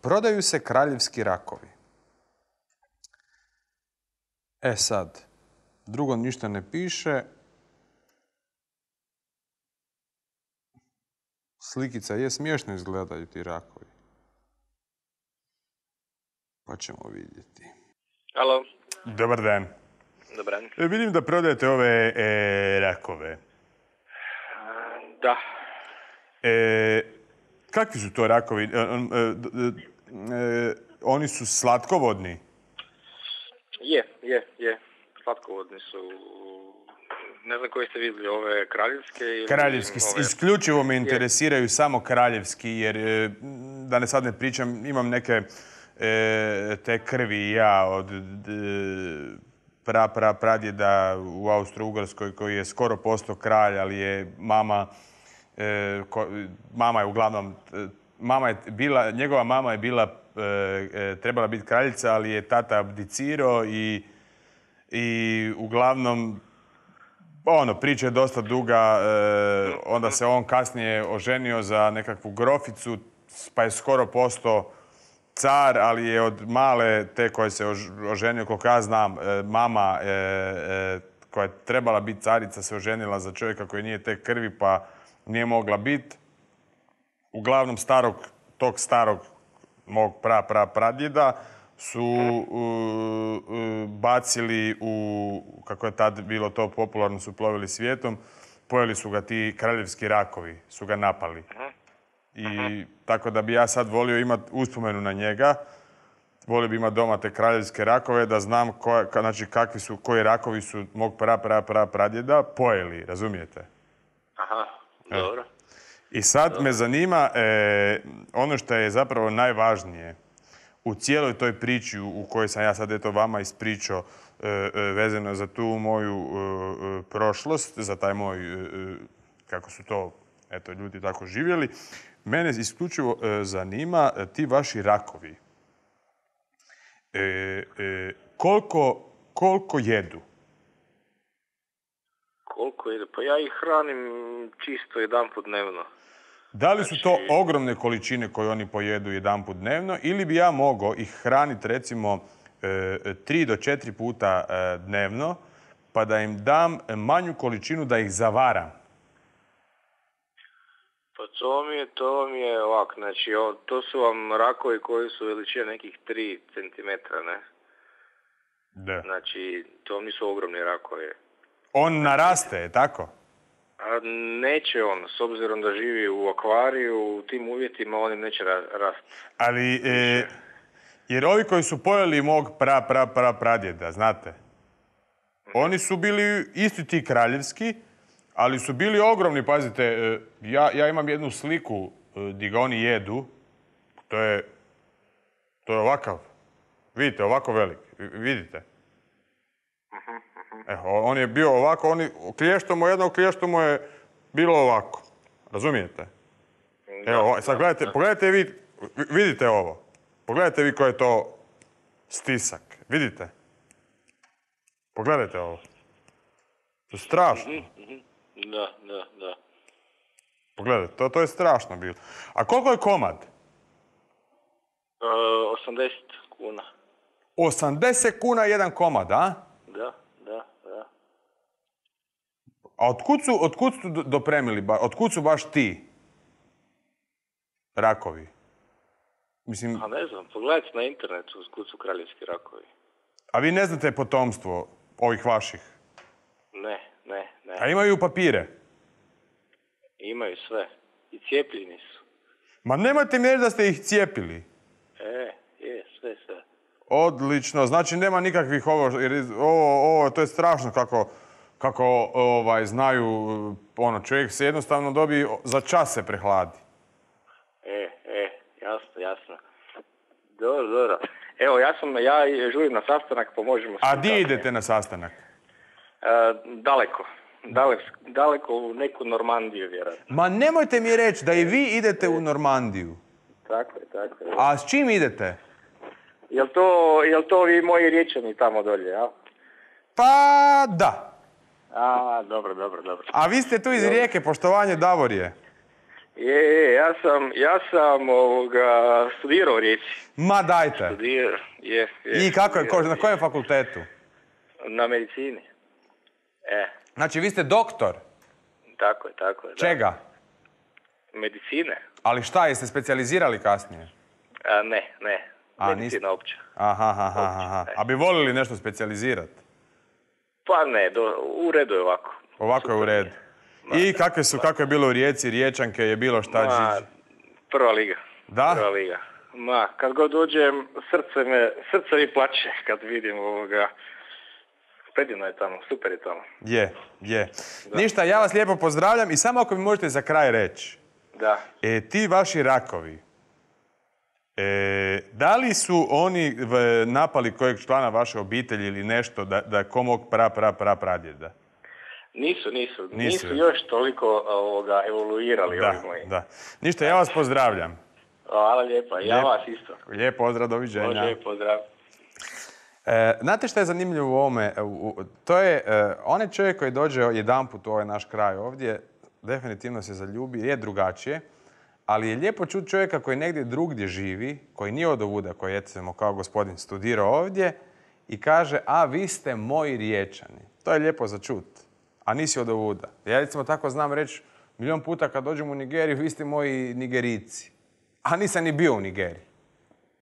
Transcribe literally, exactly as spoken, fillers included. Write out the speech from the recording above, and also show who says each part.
Speaker 1: Prodaju se kraljevski rakovi. E sad, drugo ništa ne piše. Slikica je, smiješno izgledaju ti rakovi. Pa ćemo vidjeti.
Speaker 2: Alo.
Speaker 1: Dobar dan.
Speaker 2: Dobar dan.
Speaker 1: E, vidim da prodajete ove e, rakove.
Speaker 2: Da.
Speaker 1: E, kakvi su to rakovi? E, e, e, oni su slatkovodni?
Speaker 2: Je, je, je. Slatkovodni su. Ne znam koji ste vidjeli, ove kraljevske ili...
Speaker 1: Kraljevski.
Speaker 2: Ove...
Speaker 1: Isključivo me interesiraju je. Samo kraljevski, jer da ne sad ne pričam, imam neke e, te krvi ja od d, pra, pra, pradjeda u Austro-Ugarskoj koji je skoro postao kralj, ali je mama, e, ko, mama je uglavnom, mama je bila, njegova mama je bila, e, trebala biti kraljica, ali je tata abdicirao i, i uglavnom, ono, priča je dosta duga, e, onda se on kasnije oženio za nekakvu groficu, pa je skoro postao car, ali je od male te koje se oženio, koliko ja znam, e, mama e, e, koja je trebala biti carica se oženila za čovjeka koji nije te krvi, pa nije mogla biti. Uglavnom starog, tog starog mog pra, pra, pradjeda su uh, uh, bacili u, kako je tad bilo to popularno, su plovili svijetom, pojeli su ga ti kraljevski rakovi, su ga napali. I tako da bi ja sad volio imati uspomenu na njega, volio bi imati doma te kraljevske rakove, da znam koja, znači kakvi su, koji rakovi su mog pra, pra, pra, pradjeda pojeli, razumijete?
Speaker 2: Aha, dobro. E.
Speaker 1: I sad dobro. Me zanima, e, ono što je zapravo najvažnije, u cijeloj toj priči u kojoj sam ja sad eto vama ispričao e, e, vezano za tu moju e, e, prošlost, za taj moj, e, kako su to eto, ljudi tako živjeli, mene isključivo e, zanima e, ti vaši rakovi. E, e, koliko, koliko jedu?
Speaker 2: Koliko jedu? Pa ja ih hranim čisto jedanput dnevno.
Speaker 1: Da li su to ogromne količine koje oni pojedu jedanput dnevno ili bi ja mogao ih hraniti recimo tri do četiri puta dnevno pa da im dam manju količinu da ih zavaram?
Speaker 2: Pa to mi je, to mi je ovak, znači to su vam rakovi koji su veličine nekih tri centimetra, ne?
Speaker 1: Da.
Speaker 2: Znači to nisu ogromni rakovi.
Speaker 1: On naraste, je tako?
Speaker 2: A neće on, s obzirom da živi u akvariju, u tim uvjetima on neće rasti.
Speaker 1: Ali, e, jer ovi koji su pojeli mog pra, pra, pra, pradjeda, znate, mm-hmm. oni su bili isti ti kraljevski, ali su bili ogromni, pazite, e, ja, ja imam jednu sliku e, gdje ga oni jedu, to je, to je ovakav, vidite, ovako velik, vidite.
Speaker 2: Mm-hmm.
Speaker 1: E, on je bio ovako, oni, klješto mu jedno, klješto mu je bilo ovako. Razumijete? Da, evo, sad gledajte, da. Pogledajte vi, vidite ovo. Pogledajte vi koji je to stisak. Vidite? Pogledajte ovo. To je strašno.
Speaker 2: Mm-hmm. Da, da, da.
Speaker 1: Pogledajte, to, to je strašno bilo. A koliko je komad?
Speaker 2: Uh, osamdeset kuna.
Speaker 1: osamdeset kuna jedan komad, a?
Speaker 2: Da.
Speaker 1: A otkud su, otkud su dopremili, otkud su baš ti rakovi? Mislim...
Speaker 2: A ne znam, pogledajte na internetu otkud su kraljevski rakovi.
Speaker 1: A vi ne znate potomstvo ovih vaših?
Speaker 2: Ne, ne, ne.
Speaker 1: A imaju papire?
Speaker 2: Imaju sve. I cijepljeni su.
Speaker 1: Ma nemojte mi reći da ste ih cijepili.
Speaker 2: E, je, sve, sve.
Speaker 1: Odlično, znači nema nikakvih ovo, jer ovo, ovo, to je strašno kako... kako ovaj, znaju, ono, čovjek se jednostavno dobije, za čas se prehladi.
Speaker 2: E, e, jasno, jasno. Dobro, dobro. Evo, ja sam, ja žurim na sastanak, pa možemo...
Speaker 1: A di idete na sastanak?
Speaker 2: E, daleko. Daleko, daleko u neku Normandiju, vjerojatno.
Speaker 1: Ma nemojte mi reći da i vi idete u Normandiju.
Speaker 2: Tako je, tako je.
Speaker 1: A s čim idete?
Speaker 2: Jel to, jel to vi moji Riječani tamo dolje, ja?
Speaker 1: Pa, da.
Speaker 2: A, dobro, dobro, dobro.
Speaker 1: A vi ste tu iz Rijeke, poštovanje Davorije.
Speaker 2: Je, je, ja sam, ja sam ovoga, studirao u Rijeci.
Speaker 1: Ma dajte.
Speaker 2: Studirao, je, je.
Speaker 1: I kako je, ko-
Speaker 2: studirao.
Speaker 1: na kojem fakultetu?
Speaker 2: Na medicini. E,
Speaker 1: Znači, vi ste doktor.
Speaker 2: tako je, tako je. Da.
Speaker 1: Čega?
Speaker 2: Medicine?
Speaker 1: Ali šta, jeste specijalizirali kasnije?
Speaker 2: A, ne, ne.
Speaker 1: A,
Speaker 2: Medicina opća.
Speaker 1: Aha, aha, aha. A bi volili nešto specijalizirati?
Speaker 2: Pa ne, do, u redu je ovako.
Speaker 1: Ovako je u redu. I kakve su, kako je bilo u Rijeci, Riječanke, je bilo šta?
Speaker 2: Ma,
Speaker 1: Ži-
Speaker 2: prva liga.
Speaker 1: Da?
Speaker 2: Prva liga. Ma, kad god dođem, srce me, srce mi plače kad vidim ovoga. Predivno je tamo, super je tamo.
Speaker 1: Je, je. Ništa, ja vas lijepo pozdravljam i samo ako mi možete za kraj reći.
Speaker 2: Da.
Speaker 1: E, ti vaši rakovi, e, da li su oni v- napali kojeg člana vaše obitelji ili nešto da, da ko mog pra, pra, pra, pradjeda?
Speaker 2: Nisu, nisu.
Speaker 1: Nisu.
Speaker 2: Nisu još toliko ovoga, evoluirali ovi
Speaker 1: Da,
Speaker 2: moji.
Speaker 1: da. Ništa, ja vas pozdravljam.
Speaker 2: Hvala lijepa. Ja
Speaker 1: Lijep.
Speaker 2: vas isto.
Speaker 1: Lijep pozdrav, doviđenja.
Speaker 2: Može, pozdrav.
Speaker 1: E, znate što je zanimljivo u ovome? U- u- to je, e, onaj čovjek koji dođe jedanput u ovaj naš kraj ovdje, definitivno se zaljubi, je drugačije, ali je lijepo čuti čovjeka koji negdje drugdje živi, koji nije od ovuda, koji je, recimo, kao gospodin studirao ovdje i kaže, a vi ste moji Riječani. To je lijepo za čut, a nisi od ovuda. Ja, recimo, tako znam reći milijon puta kad dođem u Nigeriju, vi ste moji Nigerici. A nisam ni bio u Nigeriji.